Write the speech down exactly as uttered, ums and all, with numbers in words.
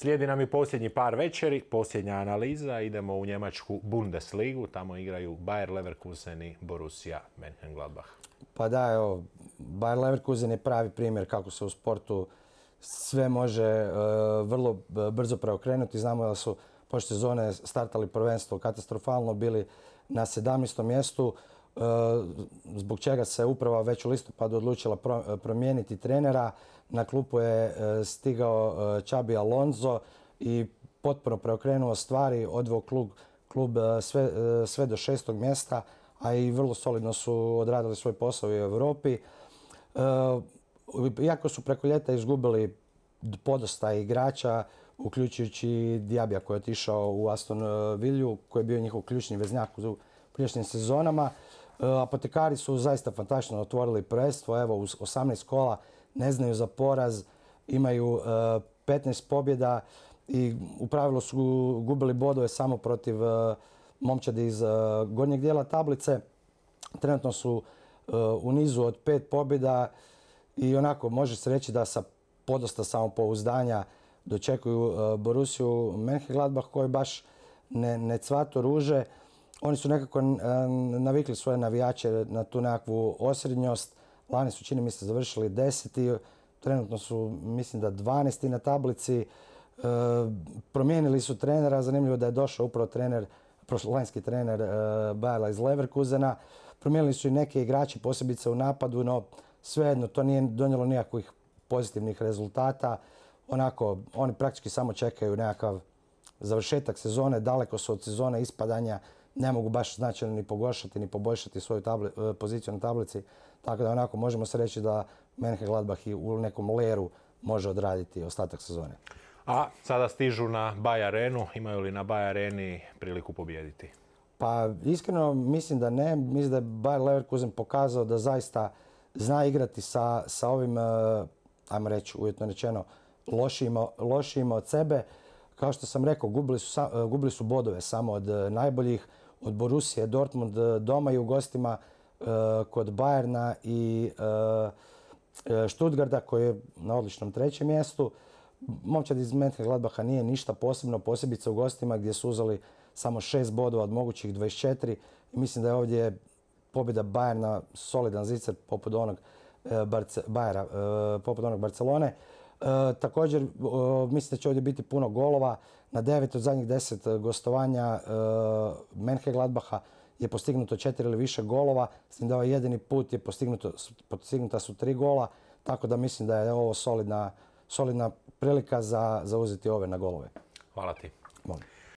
Slijedi nam i posljednji par večeri, posljednja analiza. Idemo u njemačku Bundesligu. Tamo igraju Bayer Leverkusen i Borussia Mönchengladbach. Pa da, evo, Bayer Leverkusen je pravi primjer kako se u sportu sve može uh, vrlo brzo preokrenuti. Znamo da su prošle sezone startali prvenstvo katastrofalno, bili na sedamnaestom mjestu, uh, zbog čega se uprava već u listopadu odlučila pro, promijeniti trenera. Na klupu je uh, stigao uh, Xabi Alonso i potpuno preokrenuo stvari, odveo klub, klub uh, sve, uh, sve do šestog mjesta, a i vrlo solidno su odradili svoj posao u Europi. Uh, iako su preko ljeta izgubili podosta igrača, uključujući Diabija koji je otišao u Aston Villu, koji je bio njihov ključni veznjak u prijašnjim sezonama. Apotekari su zaista fantastično otvorili prvenstvo. Evo, uz osamnaest kola ne znaju za poraz, imaju petnaest pobjeda i u pravilu su gubili bodove samo protiv momčadi iz gornjeg dijela tablice. Trenutno su u nizu od pet pobjeda i onako može se reći da sa podosta samopouzdanja dočekuju Borussiju Mönchengladbach koji baš ne, ne cvato ruže. Oni su nekako navikli svoje navijače na tu nekakvu osrednjost. Lani su, čini mi se, završili deseti. Trenutno su, mislim da, dvanaesti na tablici. E, promijenili su trenera. Zanimljivo da je došao upravo trener, prošlolanjski trener e, Bayera iz Leverkusena. Promijenili su i neke igrače, posebice u napadu, no svejedno to nije donijelo nikakvih pozitivnih rezultata. Onako, oni praktički samo čekaju nekakav završetak sezone, daleko su od sezone ispadanja, ne mogu baš značajno ni pogoršati ni poboljšati svoju tabli, poziciju na tablici. Tako da onako možemo se reći da Mönchengladbach i u nekom leru može odraditi ostatak sezone. A sada stižu na Bayer Arenu. Imaju li na Bayer Areni priliku pobijediti? Pa iskreno mislim da ne. Mislim da je Bayer Leverkusen pokazao da zaista zna igrati sa, sa ovim, ajmo reći uvjetno rečeno, lošijima, lošijima od sebe. Kao što sam rekao, gubili su, gubili su bodove samo od najboljih, od Borussije, Dortmund doma i u gostima kod Bayerna i Stuttgarta koji je na odličnom trećem mjestu. Momčad iz Mönchengladbacha nije ništa posebno, posebice u gostima gdje su uzeli samo šest bodova od mogućih dvadeset četiri. I mislim da je ovdje pobjeda Bayerna solidan zicer poput onog Barce, Bayera, poput onog Barcelone. E, također, o, mislim da će ovdje biti puno golova. Na devet od zadnjih deset gostovanja e, Mönchengladbacha je postignuto četiri ili više golova. S tim da ovaj jedini put je postignuto, postignuta su tri gola. Tako da mislim da je ovo solidna, solidna prilika za, za uzeti ove na golove. Hvala ti. Molim.